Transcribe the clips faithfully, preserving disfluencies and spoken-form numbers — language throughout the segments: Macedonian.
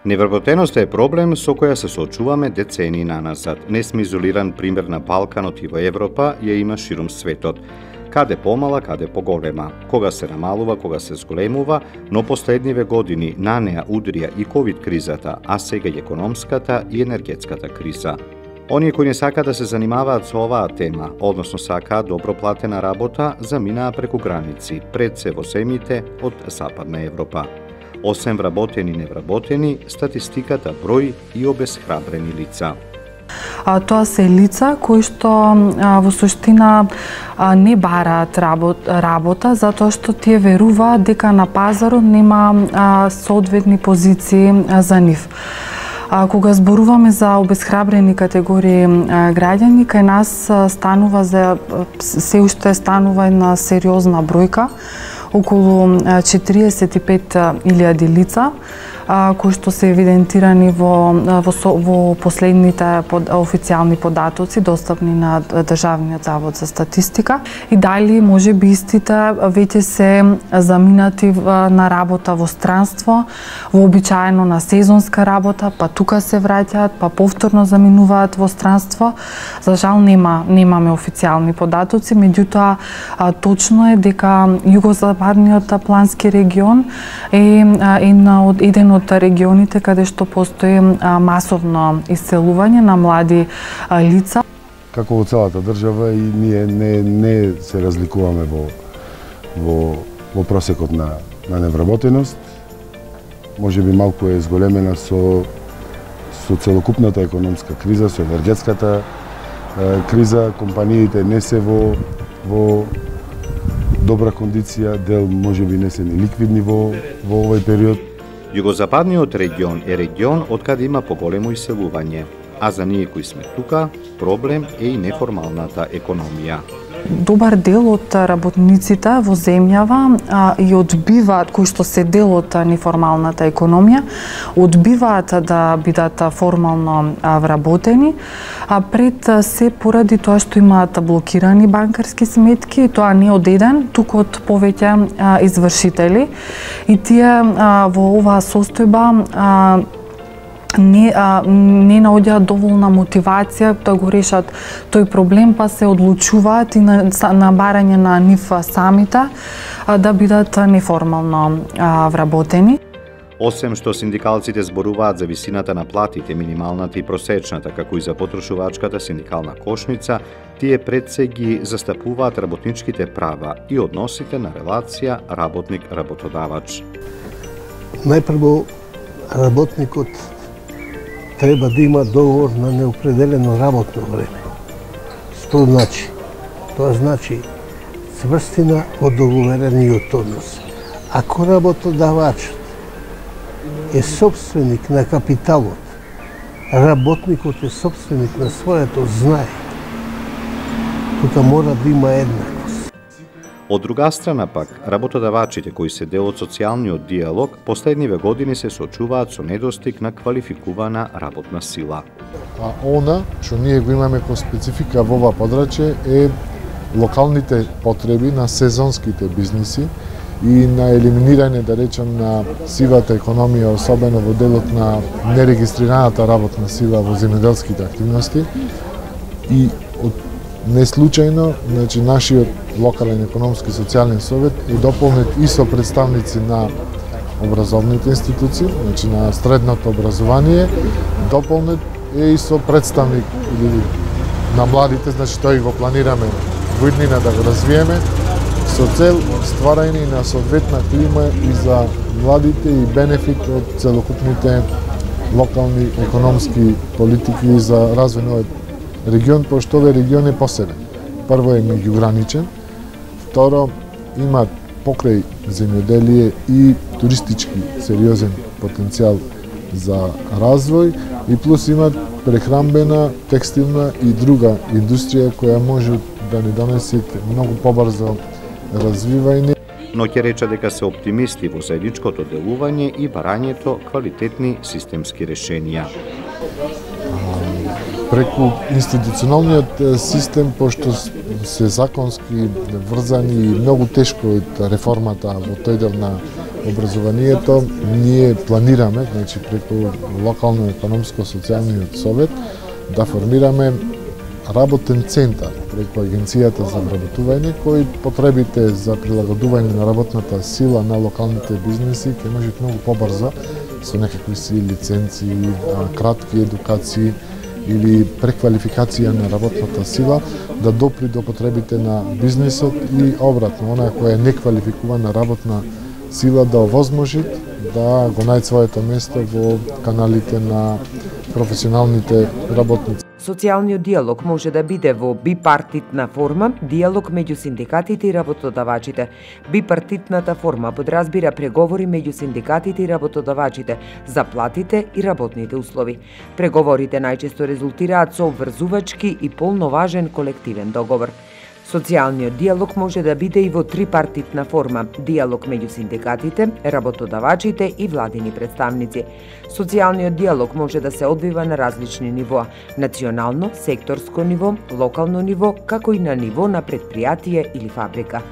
Невработеноста е проблем со која се соочуваме децении наназад. Не сме изолиран пример на Балканот и во Европа, ја има ширум светот. Каде помала, каде поголема. Кога се намалува, кога се зголемува, но последниве години на неа удрија и ковид кризата, а сега и економската и енергетската криза. Оние кои не сака да се занимаваат со оваа тема, односно сакаат добро платена работа, заминаа преку граници, пред се во земјите од Западна Европа. Осем вработени и невработени, статистиката брои и обесхрабрени лица. А, тоа се лица кои што а, во суштина а, не бараат работ, работа затоа што тие веруваат дека на пазарот нема а, соодветни позиции а, за нив. А, кога зборуваме за обесхрабрени категории а, граѓани, кај нас а, станува за се уште станува една сериозна бројка, околу четириесет и пет илјади лица, кои што се евидентирани во, во, во последните под, официјални податоци достапни на Државниот завод за статистика. И дали може би истите веќе се заминати на работа во странство, вообичаено на сезонска работа, па тука се враќаат, па повторно заминуваат во странство. За жал нема немаме официјални податоци, меѓутоа точно е дека југозападниот плански регион е еден од регионите каде што постои масовно исцелување на млади лица. Како во целата држава и ние не, не се разликуваме во, во, во просекот на, на невработеност. Може би малку е зголемена со, со целокупната економска криза, со енергетската е, криза. Компаниите не се во, во добра кондиција, дел може би не се ни ликвидни во, во овој период. Југозападниот регион е регион од каде има поголемо иселување, а за ние кои сме тука, проблем е и неформалната економија. Добар дел од работниците во земјава а, и одбиваат, кои што се дел од неформалната економија, одбиваат да бидат формално а, вработени, а пред се поради тоа што имаат блокирани банкарски сметки, тоа не од еден, туку од повеќе а, извршители. И тие а, во оваа состојба а, не, а, не наоѓаат доволна мотивација да го решат тој проблем, па се одлучуваат и на, на барање на нив самите а, да бидат неформално а, вработени. Осем што синдикалците зборуваат за висината на платите, минималната и просечната, како и за потрошувачката синдикална кошница, тие пред се ги застапуваат работничките права и односите на релација работник-работодавач. Најпрво, работникот треба да има договор на неопределено работно време. Што значи? Тоа значи цврстина од договорениот однос. Ако работодавачот е собственик на капиталот, работникот е собственик на своето знае, тука мора да има еднаквост. Од друга страна пак, работодавачите кои се дел од социјалниот диалог, последниве години се соочуваат со недостиг на квалификувана работна сила. А она што ние го имаме како специфика во ова подрачје е локалните потреби на сезонските бизниси и на елиминирање, да речем, на сивата економија, особено во делот на нерегистрираната работна сила во земјоделските активности. И од не случајно, значи, нашиот локален економски социјален совет е дополнет и со представници на образовните институции, значи на средното образование, дополнет е и со представник или на младите, значи тој го планираме во иднина да го развиеме, со цел стварање на соодветна клима и за младите и бенефит од целокупните локални економски политики за развој на овој регион, пошто овој регион е посебен. Прво е меѓуграничен, второ има покрај земјоделие и туристички сериозен потенцијал за развој и плюс има прехранбена, текстилна и друга индустрија која може да ни донесе многу побрзо развивање. Но ќе рече дека се оптимисти во заедничкото делување и барањето квалитетни системски решенија. Преку институционалниот систем, пошто се законски врзани и многу тешко од реформата во тој дел на образованието ние планираме, значи преку локално економско социјалниот совет да формираме работен центар преку Агенцијата за вработување, кои потребите за прилагодување на работната сила на локалните бизнеси ќе можат многу побрзо со некакви си лиценци, кратки едукации или преквалификација на работната сила да допри до потребите на бизнисот и обратно, онаа која е неквалификувана работна сила да овозможи да го најде своето место во каналите на професионалните работници. Социјалниот диалог може да биде во бипартитна форма, диалог меѓу синдикатите и работодавачите. Бипартитната форма подразбира преговори меѓу синдикатите и работодавачите за платите и работните услови. Преговорите најчесто резултираат со обврзувачки и полноважен колективен договор. Социјалниот диалог може да биде и во трипартитна форма, диалог меѓу синдикатите, работодавачите и владини представници. Социјалниот диалог може да се одвива на различни нивоа: национално, секторско ниво, локално ниво, како и на ниво на предпријатие или фабрика.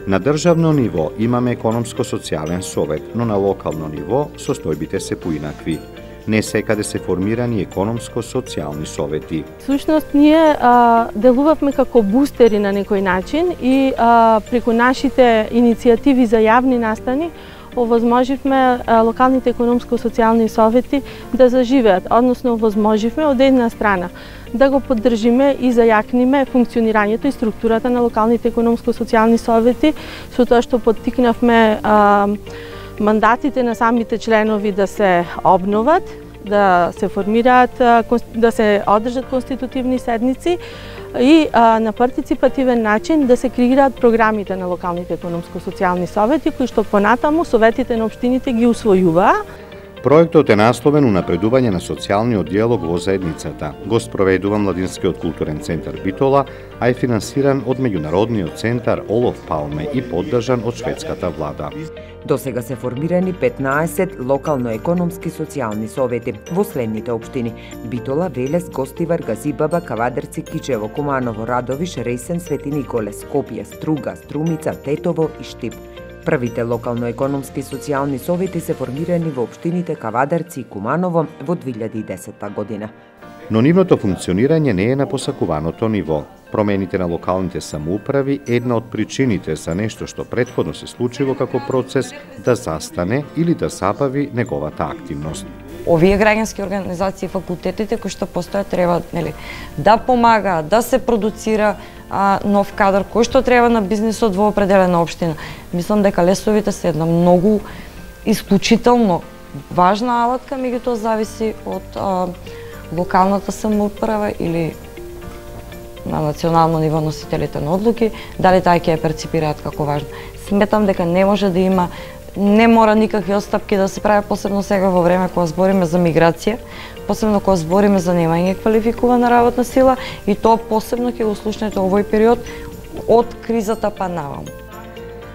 На државно ниво имаме економско-социјален совет, но на локално ниво состојбите се поинакви. Не секаде се формирани економско-социјални совети. Всушност, ние а, делувавме како бустери на некој начин и а, преку нашите иницијативи за јавни настани овозможивме а, локалните економско-социјални совети да заживеат, односно овозможивме од една страна да го поддржиме и зајакниме функционирањето и структурата на локалните економско-социјални совети, со тоа што поттикнавме а, мандатите на самите членови да се обноват, да се формираат, да се одржат конститутивни седници и а, на партиципативен начин да се креираат програмите на локалните економско-социјални совети, кои што понатаму советите на општините ги усвојуваа. Проектот е насловен унапредување на социјалниот диалог во заедницата. Го спроведува Младинскиот културен центар Битола, а е финансиран од меѓународниот центар Олоф Палме и поддржан од шведската влада. До сега се формирани петнаесет локално-економски социјални совети во следните општини: Битола, Велес, Гостивар, Газибаба, Кавадарци, Кичево, Куманово, Радовиш, Ресен, Свети Николе, Скопје, Струга, Струмица, Тетово и Штип. Првите локално-економски социјални совети се формирани во општините Кавадарци и Куманово во две илјади и десета година. Но нивното функционирање не е на посакуваното ниво. Промените на локалните самоуправи е една од причините за нешто што претходно се случило како процес да застане или да забави неговата активност. Овие граѓански организации и факултетите кои што постојат треба, нели, да помагаат, да се продуцира а, нов кадар кој што треба на бизнисот во определена општина. Мислам дека лесовите се една многу исклучително важна алатка, меѓутоа зависи од а, локалната самоуправа или на национално ниво носителите на одлуки, дали таа ќе ја перципираат како важно. Сметам дека не може да има, не мора никакви отстапки да се прават, посебно сега во време кога збориме за миграција, посебно кога збориме за немање квалификувана работна сила, и тоа посебно ќе го слушнете овој период од кризата па наваму.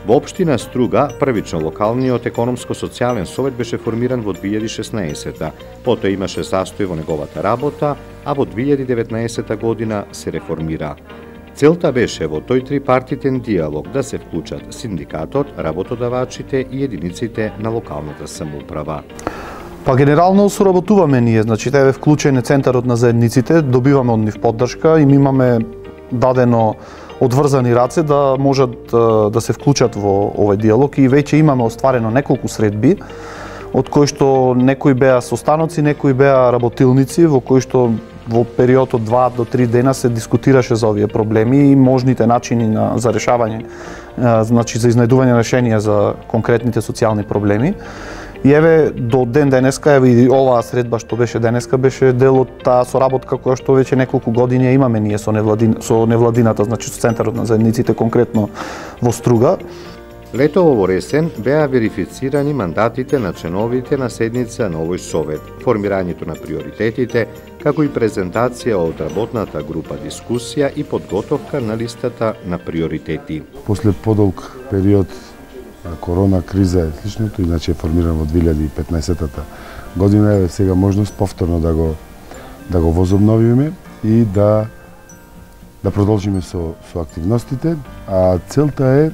Во општина Струга, првично локалниот економско-социјален совет беше формиран во две илјади и шеснаесета. Потоа имаше застој во неговата работа, а во две илјади и деветнаесета година се реформира. Целта беше во тој трипартитен диалог да се вклучат синдикатот, работодавачите и единиците на локалната самоуправа. Па генерално соработуваме ние, значи еве вклучен е центарот на заедниците, добиваме од нив поддршка и ми имаме дадено одврзани раце да можат да се вклучат во овој диалог и веќе имаме остварено неколку средби, од кои што некои беа состаноци, некои беа работилници, во кои што во период од два до три дена се дискутираше за овие проблеми и можните начини на, за решавање, значи за изнајдување решенија за конкретните социјални проблеми. И еве до ден денеска, еве и оваа средба што беше денеска беше дел од таа соработка која што веќе неколку години имаме ние со невладин, со невладината, значи со центарот на заедниците конкретно во Струга. Летово во Ресен беа верифицирани мандатите на членовите на седница на овој совет, формирањето на приоритетите, како и презентација од работната група дискусија и подготовка на листата на приоритети. После подолг период на корона криза е сличното, иначе е формиран во две илјади и петнаесета година, е сега можност повторно да го да го возобновиме и да да продолжиме со со активностите, а целта е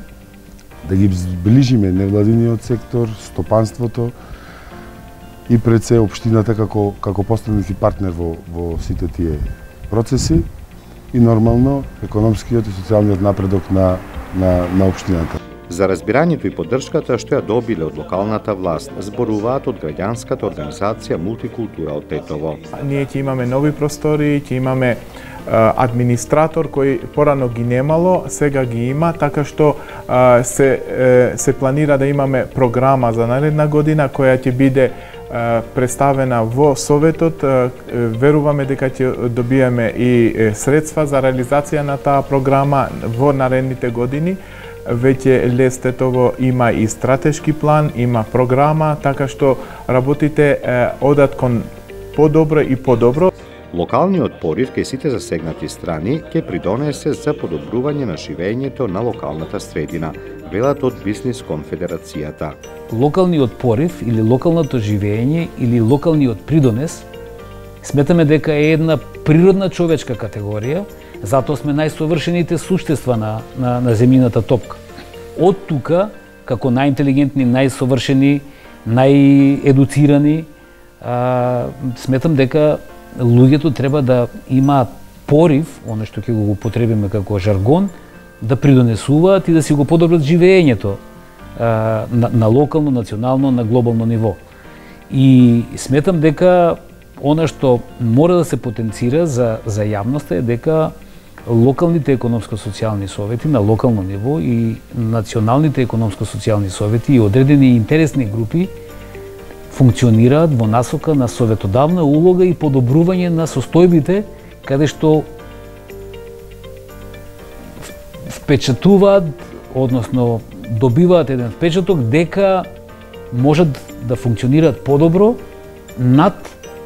да ги зближиме невладиниот сектор, стопанството и пред се општината како како постанати партнер во во сите тие процеси и нормално економскиот и социјалниот напредок на на на општината. За разбирањето и поддршката што ја добиле од локалната власт, зборуваат од граѓанската организација Мултикултура од Тетово. Ние ќе имаме нови простори, ќе имаме администратор кој порано ги немало, сега ги има, така што се се планира да имаме програма за наредна година која ќе биде представена во Советот. Веруваме дека ќе добиеме и средства за реализација на таа програма во наредните години. Веќе Лес Тетово има и стратешки план, има програма, така што работите одат кон подобро и подобро. Локалниот порив кај сите засегнати страни ќе придонесе за подобрување на живеењето на локалната средина, велат од Бизнис конфедерацијата. Локалниот порив или локалното живење или локалниот придонес сметаме дека е една природна човечка категорија, затоа сме најсовршените суштества на, на, на земјината топка. Од тука, како најинтелигентни, најсовршени, наједуцирани, а, сметам дека луѓето треба да имаат порив, оно што ќе го употребиме како жаргон, да придонесуваат и да си го подобрат живеењето а, на, на локално, национално, на глобално ниво. И сметам дека она што мора да се потенцира за, за јавноста е дека локалните економско-социјални совети на локално ниво и националните економско-социјални совети и одредени интересни групи функционираат во насока на советодавна улога и подобрување на состојбите каде што впечатуваат, односно добиваат еден впечаток дека можат да функционираат подобро над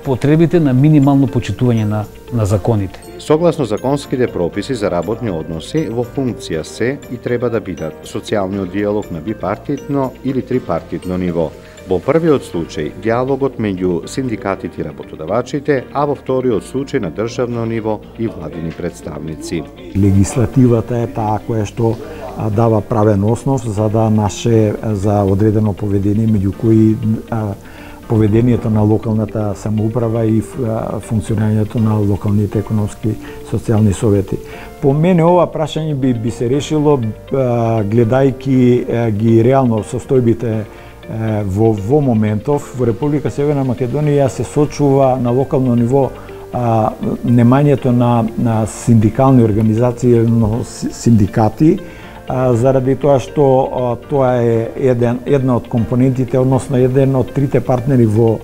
потребите на минимално почитување на, на законите. Согласно законските прописи за работни односи, во функција се и треба да бидат социјалниот диалог на бипартитно или трипартитно ниво. Во првиот случај, диалогот меѓу синдикатите и работодавачите, а во вториот случај на државно ниво и владини представници. Легислативата е таа која што дава правен основ за да наше за одредено поведение, меѓу кои поведението на локалната самоуправа и функционирањето на локалните економски социјални совети. По мене ова прашање би, би се решило гледајќи ги реално состојбите во, во моментов. Во Република Северна Македонија се сочува на локално ниво а, немањето на, на синдикални организации, синдикати, А, заради тоа што а, тоа е еден, една од компонентите, односно еден од трите партнери во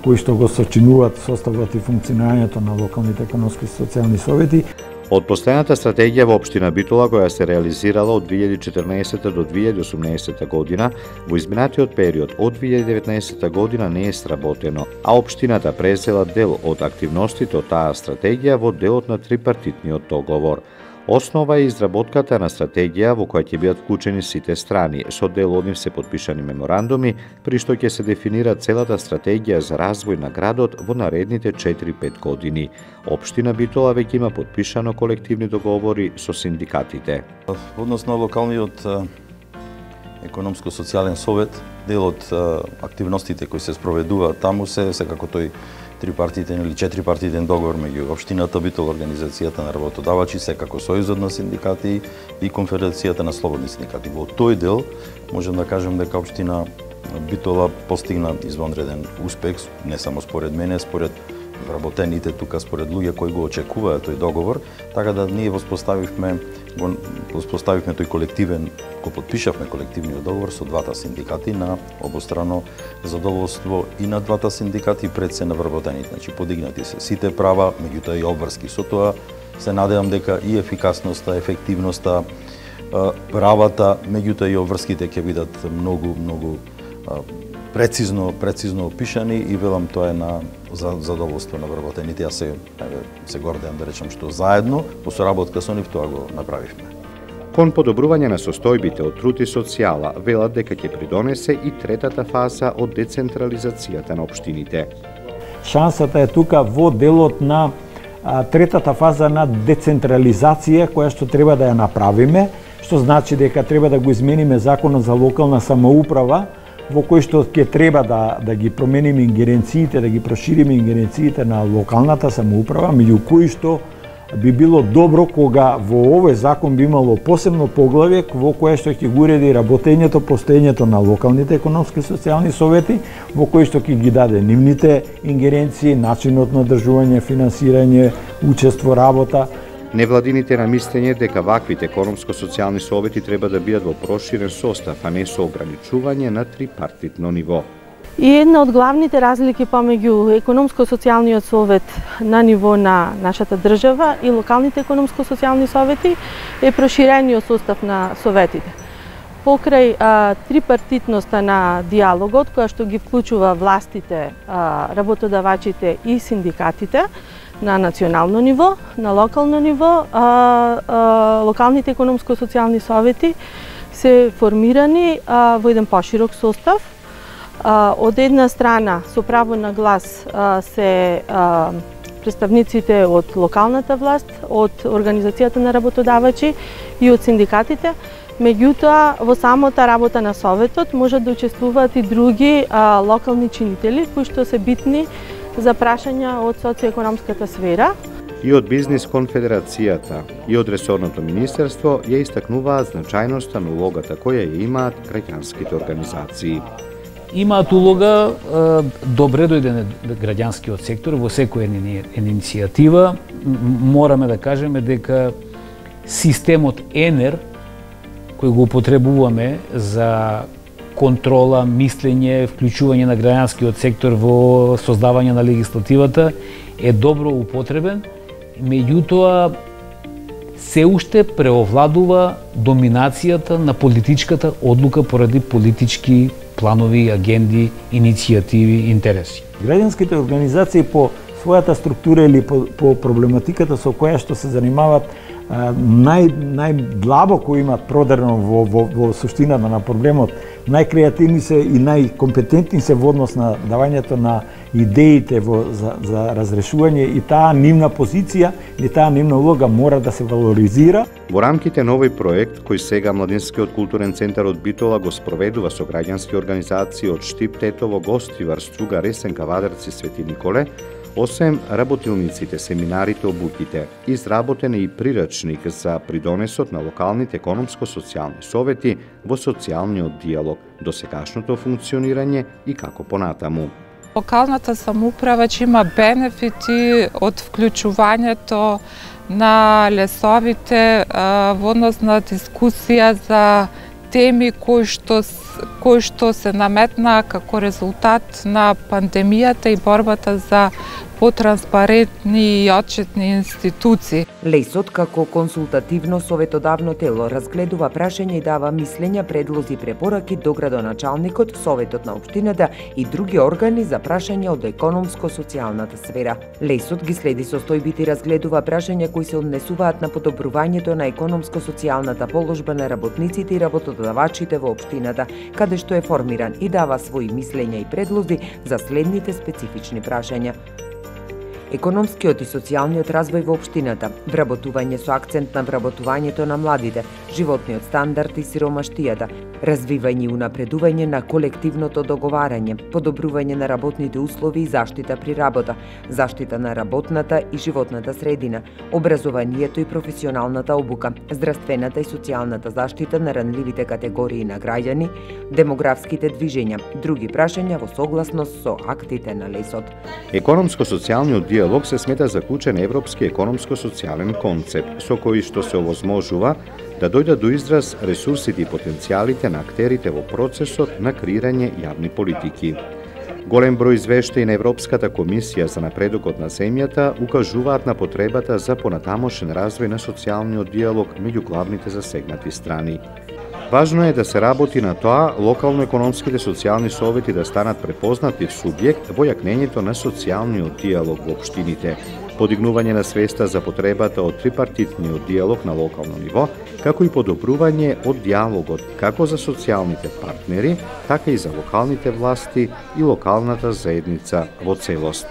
кои што го сочинуваат составот и функционирањето на локалните економски и социјални совети. Од постојаната стратегија во општина Битола, која се реализирала од две илјади и четрнаесетта до две илјади и осумнаесетта година, во изминатиот период од две илјади и деветнаесетта година не е сработено, а општината презела дел од активностите од таа стратегија во делот на трипартитниот договор. Основа е изработката на стратегија во која ќе бидат вклучени сите страни. Со дел од нив се подпишани меморандуми, при што ќе се дефинира целата стратегија за развој на градот во наредните четири-пет години. Општина Битола веќе има подпишано колективни договори со синдикатите. Односно на локалниот економско-социјален совет, дел од активностите кои се спроведуваат таму се секако тој трипартитен или четирипартитен договор меѓу општината Битола, организацијата на работодавачи, секако Сојузот на синдикати и Конфедерацијата на слободни синдикати. Во тој дел можем да кажем дека општина Битола постигна извонреден успех, не само според мене, според вработените тука, според луѓе кои го очекуваат тој договор, така да ние воспоставивме го воспоставивме тој колективен, го потпишавме колективниот договор со двата синдикати на обострано задоволство и на двата синдикати пред се на вработените. Значи подигнати се сите права, меѓутоа и обврски со тоа. Се надевам дека и ефикасноста, ефективноста, правата, меѓутоа и обврските ќе бидат многу многу прецизно прецизно опишани и велам тоа е на за задоволство на вработените. Јас се еве се гордеам да речам што заедно по соработка со нив тоа го направивме. Кон подобрување на состојбите од труд и социјала, велат дека ќе придонесе и третата фаза од децентрализацијата на општините. Шансата е тука во делот на а, третата фаза на децентрализација која што треба да ја направиме, што значи дека треба да го измениме законот за локална самоуправа, во кој што ќе треба да, да ги промениме ингеренциите, да ги прошириме ингеренциите на локалната самоуправа, меѓу кои што би било добро кога во овој закон би имало посебно поглавје во кое што ќе го уреди работењето, постоењето на локалните економски и социјални совети, во кои што ќе ги даде нивните ингеренции, начинот на одржување, финансирање, учество, работа. Невладините на мислење дека ваквите економско-социјални совети треба да бидат во проширен состав, а не со ограничување на трипартитно ниво. И една од главните разлики помеѓу економско-социјалниот совет на ниво на нашата држава и локалните економско-социјални совети е проширениот состав на советите. Покрај а, трипартитноста на диалогот, која што ги вклучува властите, а, работодавачите и синдикатите на национално ниво, на локално ниво, а, а, локалните економско-социјални совети се формирани а, во еден поширок состав. Од една страна, со право на глас се представниците од локалната власт, од Организацијата на работодавачи и од синдикатите. Меѓутоа, во самата работа на Советот можат да учествуваат и други локални чинители, кои што се битни за прашања од социоекономската сфера. И од Бизнис конфедерацијата, и од Ресорното министерство ја истакнуваат значајноста на улогата која ја имаат граѓанските организации. Имаат улога добре дојден граѓанскиот сектор во секоја иницијатива. Мораме да кажеме дека системот ЕНЕР кој го употребуваме за контрола, мислење, вклучување на граѓанскиот сектор во создавање на легислативата е добро употребен, меѓутоа се уште преовладува доминацијата на политичката одлука поради политички планови, агенди, иницијативи, интереси. Граѓанските организации по својата структура или по, по проблематиката со која што се занимаваат нај најдлабоко имат продерно во, во, во суштината на проблемот, најкреативни се и најкомпетентни се во однос на давањето на идеите во, за, за разрешување, и таа нивна позиција или таа нивна улога мора да се валоризира. Во рамките на овој проект, кој сега Младинскиот културен центар од Битола го спроведува со граѓански организации од Штип, Тетово, Гостивар, Струга, Ресенка, Вадарци, Свети Николе, освен работилниците, семинарите, обуките, изработен е и прирачник за придонесот на локалните економско-социјални совети во социјалниот диалог, досегашното функционирање и како понатаму. Локалната самоуправа ќе има бенефити од вклучувањето на лесовите во однос на дискусија за теми кои што, кои што се наметнаа како резултат на пандемијата и борбата за потранспарентни и отчетни институции. Лесот како консултативно советодавно тело разгледува прашања и дава мислења, предлози, препораки до градоначалникот, Советот на општината и други органи за прашања од економско-социјалната сфера. Лесот ги следи состојбите и разгледува прашања кои се однесуваат на подобрувањето на економско-социјалната положба на работниците и работодавачите во општината, каде што е формиран и дава своји мислења и предлози за следните специфични прашања: економскиот и социјалниот развој во општината, вработување со акцент на вработувањето на младите, животниот стандард и сиромаштијата, развивање и унапредување на колективното договарање, подобрување на работните услови и заштита при работа, заштита на работната и животната средина, образованието и професионалната обука, здравствената и социјалната заштита на ранливите категории на граѓани, демографските движења, други прашања во согласност со актите на лесот. Економско-социјалниот диалог се смета за клучен европски економско-социјален концепт, со кој што се овозможува да дојдат до израз ресурсите и потенцијалите на актерите во процесот на креирање јавни политики. Голем број извештаи на Европската комисија за напредокот на земјата укажуваат на потребата за понатамошен развој на социјалниот диалог меѓу главните засегнати страни. Важно е да се работи на тоа локално-економските социјални совети да станат препознатив субјект во јакнењето на социјалниот диалог во општините, подигнување на свеста за потребата од трипартитниот диалог на локално ниво, како и подобрување од диалогот како за социјалните партнери, така и за локалните власти и локалната заедница во целост.